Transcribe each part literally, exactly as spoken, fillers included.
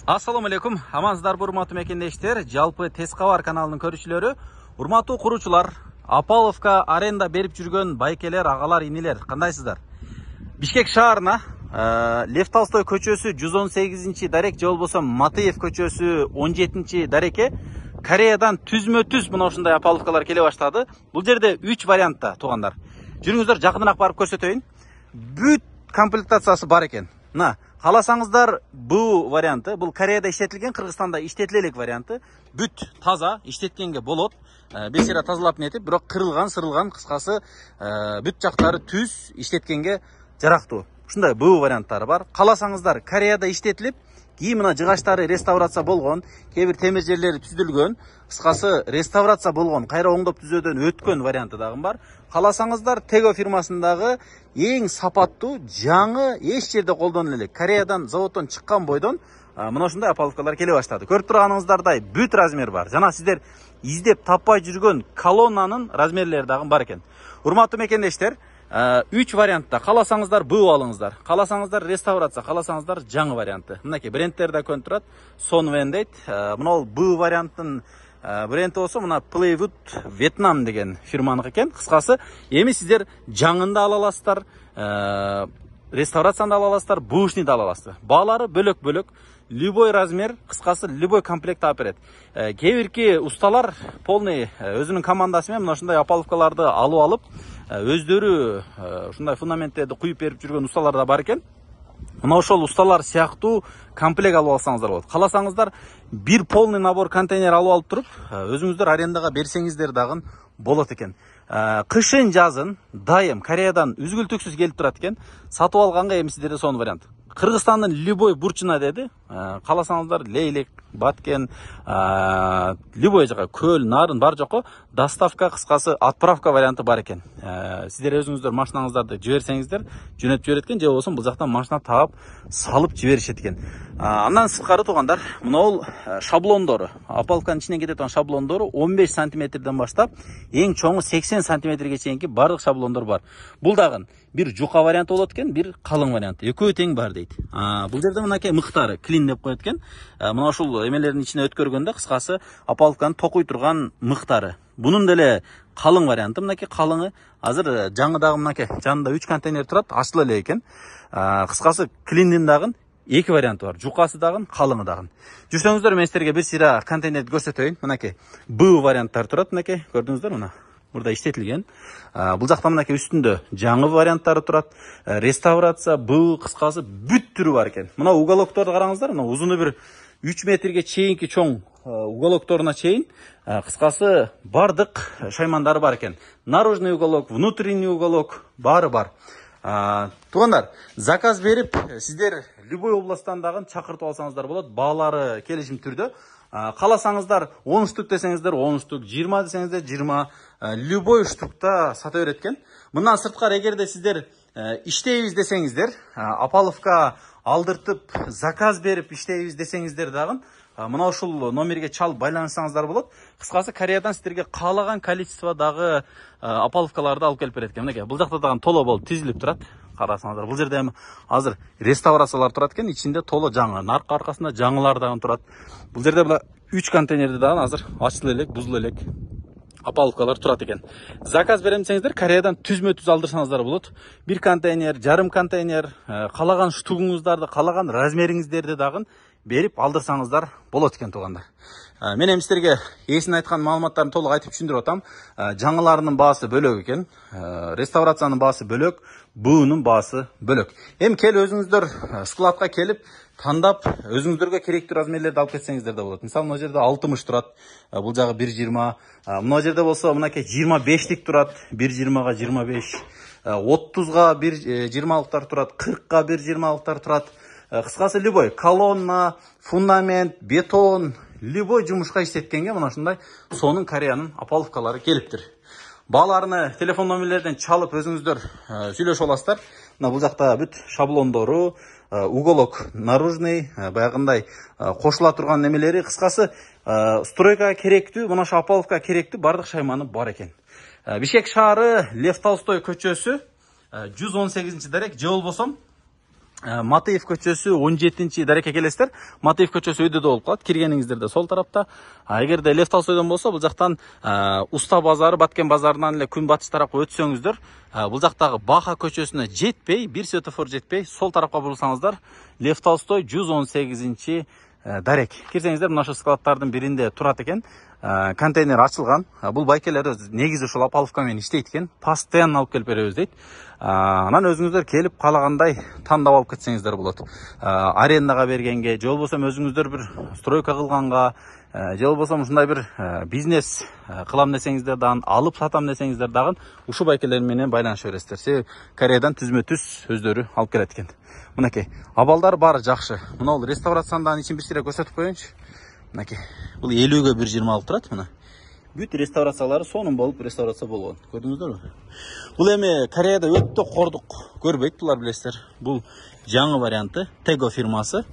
Assalamu alaikum. Амансыздарбы, урматтуу мекендештер, жалпы Тез кабар каналынын көрүүчүлөрү, урматтуу куруучулар, Апаловка аренда берип жүргөн байкелер, агалар, инилер, кандайсыздар? Бишкек шаарына Лев Толстой көчөсү жүз он сегизинчи дарек же болбосо Матыев көчөсү он жетинчи дарекке Кореядан түзмө-түз мына ушундай Апаловкалар келе баштады. Бул жерде үч вариантта туугандар. Жүрүңүздөр, жакыныраак барып көрсөтөйүн. Бүт комплектациясы бар экен. Мына, кааласаңыздар бул варианты, бул Кореяда иштетилген, Кыргызстанда иштетиле элек варианты. Бүт таза, иштеткенге болот. Бир сыйра тазалап нетип, бирок кырылган, сырылган, кыскасы бүт жактары түз, иштеткенге жарактуу. Ушундай бул варианттары бар. Кааласаңыздар Кореяда иштетилип, кийин мына жыгачтары реставрация болгон, кээ бир темир жерлери түзүлгөн, кыскасы реставрация болгон, кайра оңдоп түзөөдөн өткөн варианты дагы бар. Кааласаңыздар Tego фирмасындагы эң сапаттуу, жаңы, эч жерде колдонула элек, Кореядан заводдон чыккан бойдон мына ушундай Апаловкалар келе баштады. Көрүп турганыңыздардай бүт размер бар. Жана сиздер издеп таппай жүргөн колоннанын размерлери дагы бар экен. Урматтуу мекендештер, үч вариантта. Кааласаңыздар бул алыңыздар. Кааласаңыздар реставрация, кааласаңыздар жаңы варианты. Мынакей брендтер да көнүп турат. Sonwen дейт. Мына бул варианттын бренди болсо мына Playwood Vietnam деген фирманыкы экен. Кыскасы, эми сиздер жаңында ала аласыздар, реставрацияны ала аласыздар, бушни да ала аласыздар. Баалары бөлөк-бөлөк, любой размер, кыскасы любой комплект алып берет. Кээ бирки усталар полный өзүнүн командасы менен мына ушундай Апаловкаларды алып алып, өздөрү ушундай фундаменттерди куюп берип жүргөн усталар да бар экен. Мына ошол усталар сыяктуу комплект алып алсаңыздар болот. Кааласаңыздар бир полный набор контейнер алып алып туруп, өзүңүздөр арендага берсеңиздер дагы болот экен. Кышын, жазын дайым Кореядан үзгүлтүксүз келип турат экен. Сатып алганга эми сиздерде сонун вариант. Кыргызстандын любой бурчуна деди. Кааласаңыздар Лейлек, Баткен, любой жака, Көл, Нарын бар жокко доставка, кыскасы отправка варианты бар экен. Сиздер өзүңүздөр машинаңыздарды жиберсеңиздер, жөнөтүп жиберет экен, же болбосо бул жактан машина таап, салып жиберишет экен. Андан сырткары туугандар, мына шаблондору, Апаловканын ичинен кете турган шаблондору он беш сантиметрден баштап, эң чоңу сексен сантиметрге чейинки бардык шаблондор бар. Бул дагы бир жука варианты болот экен, бир калың варианты. Экөө тең бар дейт. Бул жерде мынакей мыктары клин деп коет экен. Мына ушул эмелердин ичине өткөргөндө кыскасы Апаловканы токуй турган мыктары. Бунун деле калың варианты, мынакей калыңы. Азыр жаңы дагы мынакей жанында үч контейнер турат, ачыла элек экен. Кыскасы клиндин дагы эки варианты бар. Жукасы дагы, калыңы дагы. Жүрсөңүздөр, мен сиздерге бир сыйра контейнерди көрсөтөйүн. Мынакей бул варианттар турат, мынакей көрдүңүздөр мына. Burada иштетилген. Бул жакта мынакей үстүндө жаңы варианттары турат. Реставрация, бул кыскасы бүт түрү бар экен. Мына уголокторду караңыздар, мына узуну бир үч метрге чейинки чоң уголокторуна чейин кыскасы бардык шаймандары бар экен. Наружный уголок, внутренний уголок баары бар. Туугандар, заказ берип, сиздер любой областтан дагы чакыртып алсаңыздар болот. Баалары келишим түрдө. Кааласаңыздар он штук десеңиздер он штук, жыйырма десеңиздер жыйырма, любой штукта сата берет экен. Мындан сырткары, эгерде сиздер иштейбиз десеңиздер, Апаловка алдыртып, заказ берип иштейбиз десеңиздер дагы мына ушул номерге чалып байланышсаңыздар болот. Кыскасы, Кореядан сиздерге каалаган количестводагы Апаловкаларды алып келип берет экен. Мынакей бул жакта дагы толо болуп тизилип турат. Карасаңыздар, бул жерде эми азыр реставрациялар турат экен, ичинде толо жаңы, наркы аркасында жаңылар дагы турат. Бул жерде була үч контейнерди дагы азыр ачыла элек, бузула элек Апаловкалар турат экен. Заказ берем десеңиздер, Кореядан түзмө-түз алдырсаңыздар болот. Бир контейнер, жарым контейнер, калаган штугуңуздарды, калаган размериңиздерди дагы берип алдырсаңыздар болот экен туугандар. Мен эми сиздерге эсин айткан маалыматтарын толук айтып түшүндүрүп атам. Жаңыларынын баасы бөлөк экен, реставрациянын баасы бөлөк, буунун баасы бөлөк. Эми кел өзүңүздөр складка келип, тандап, өзүңүздөргө керектүү размерлерди алып кетсеңиздер да болот. Мисалы, мына жерде алтымыш турат, бул жагы бир жыйырма. Мына жерде болсо мынакей жыйырма бештик турат, бир жыйырмага жыйырма беш. отузга бир жыйырмалыктар турат, кыркка бир жыйырмалыктар турат. Кыскасы любой колонна, фундамент, бетон, любой жумушка иштеткенге мына ушундай сонун Кореянын Апаловкалары келиптир. Бааларыны телефон номерлерден чалып өзүңүздөр сүйлөшүп аласыздар. Мына бул жакта бүт шаблондору, уголок наружный, баягындай кошула турган немелери, кыскасы стройкага керектүү, мына ошо Апаловка керектүү бардык шайманы бар экен. Бишкек шаары Лев Толстой көчөсү жүз он сегизинчи дарек, же болбосо Матеев көчөсү он жетинчи дарекке келесиздер. Матеев көчөсү өйдөдө болуп калат. Киргениңиздерде сол тарапта. Эгерде Лев Толстойдон болсо, бул жактан Уста базары, Баткен базарынан эле күн батыш тарапка өтсөңүздөр, бул жактагы Баха көчөсүнө жетпей, бир светофор жетпей, сол тарапка бурулсаңыздар, Лев Толстой жүз он сегизинчи дарек. Кирсеңиздер, мына ошо складдардын биринде турат экен. Контейнер ачылган. Бул байкелер негизи ушул опаловка менен иштейт экен. Постоянно алып келип беребиз дейт. Анан өзүңүздөр келип каалагандай тандап алып кетсеңиздер болот. Арендага бергенге, же болбосо өзүңүздөр бир стройка кылганга, же болбосо ушундай бир бизнес кылам десеңиздер дагы, алып сатам десеңиздер дагы ушул байкелер менен байланыша бересиздер. Себеби Кореядан түзмө-түз өздөрү алып келет экен. Мынакей, абалдар баары жакшы. Мына бул реставрациянын ичин бир көрсөтүп коеюнчу. Мынакей, бул элүүгө бир жыйырма алып турат мына. Бүт реставрациялары сонун болуп реставрация болгон. Көрдүңүздөрбү? Бул эми Кореяда өтө кордук көрбөйт, булар билесиздер. Бул жаңы варианты, Tego фирмасы.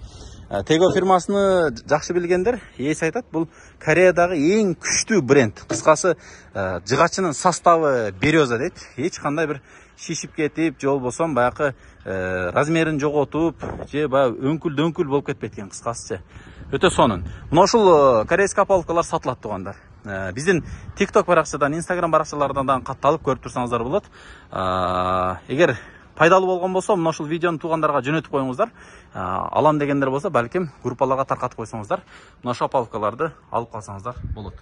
Tego фирмасыны жакшы билгендер ээси айтат, бул Кореядагы эң күчтүү бренд. Кыскасы, жыгачынын составы береза дейт. Эч кандай бир шишип кетип, же болбосо баягы размерин жоготуп, же баягы өңкүл-дөңкүл болуп кетпейт экен, кыскасыча. Өтө сонун. Мына ушул корейский опаловкалар сатылат тугандар. Биздин TikTok баракчадан, Instagram баракчаларынан да катталып көрүп турсаңыздар болот. Эгер пайдалуу болгон болсо, мына ушул видеону туугандарга жөнөтүп коюңуздар. Алам дегендер болсо, балким группаларга таркатып койсоңуздар, мына ушул опаловкаларды алып калсаңыздар болот.